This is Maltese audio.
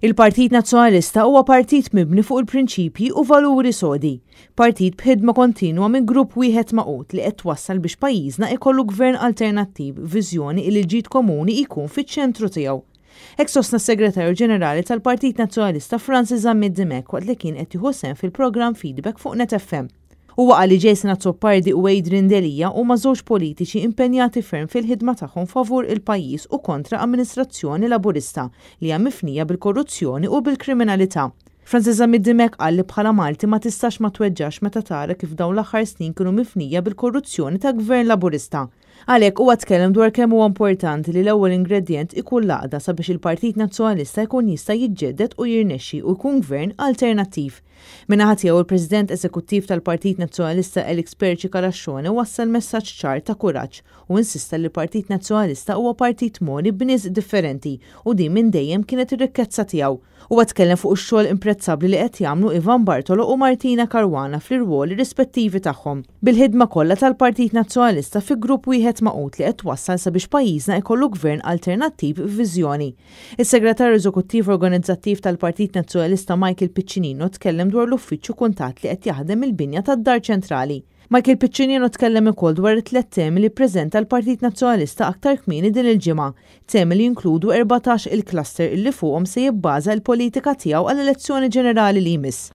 Il-Partit Nazzjonalista huwa partit mibni fuq il-prinċipji u valuri sodi. Partit b'ħidma kontinwa minn grupp wieħed magħqud li qed twassal biex pajjiżna ikollu gvern alternattiv b'viżjoni li l-ġid komuni jkun fiċ-ċentru tiegħu. Hekk sostna s-Segretarju Ġenerali tal-Partit Nazzjonalista Francis Zammit Dimech waqt li kien qed jieħu sehem fil-programm Feedback fuq Net FM. Huwa qal li Jason Azzopardi u Adrian Delia huma żewġ politiċi impenjati ferm fil-ħidma tagħhom favur il-pajjiż u kontra amministrazzjoni Laburista li hija mifnija bil-korruzzjoni u bil-kriminalità. Francis Zammit Dimech qal li bħala Malti ma tistax ma tweġġax meta tara kif dawn l-aħħar snin kienu mifnija bil-korruzzjoni ta' Gvern Laburista. Għalhekk huwa tkellem dwar kemm huwa importanti li l-ewwel ingredjent ikun l-għaqda sabiex il-Partit Nazzjonalista jkun jista' jiġġedded u jirnexxi u jkun gvern alternattiv. Min-naħa tiegħu il-President Eżekuttiv tal-Partit Nazzjonalista Alex Perici Calascione wassal messaġġ ċar ta' kuraġġ u insista li l-Partit Nazzjonalista huwa partit mogħni b'nies differenti u din minn dejjem kienet ir-rikkezza tiegħu. Huwa tkellem fuq ix-xogħol imprezzabbli li qed jagħmlu Ivan Bartolo u Martina Caruana fl-irwoli rispettivi tagħhom, bil-ħidma kollha tal-Partit Nazzjonalista fi grupp wieħed magħqud li qed twassal sabiex pajjiżna jkollu gvern alternattiv b'viżjoni. Is-Segretarju Eżekuttiv Organizzattiv tal-Partit Nazzjonalista Michael Piccinino tkellem dwar l-uffiċċju kuntatt li qed jaħdem mill-binja tad-Dar Ċentrali. Michael Piccinino tkellem ukoll dwar it-tliet temi li ppreżenta l-Partit Nazzjonalista aktar kmieni din il-ġimgħa, temi li jinkludu 14 il-cluster illi fuqhom se jibbaża l-politika tiegħu għall-elezzjoni ġenerali li jmiss.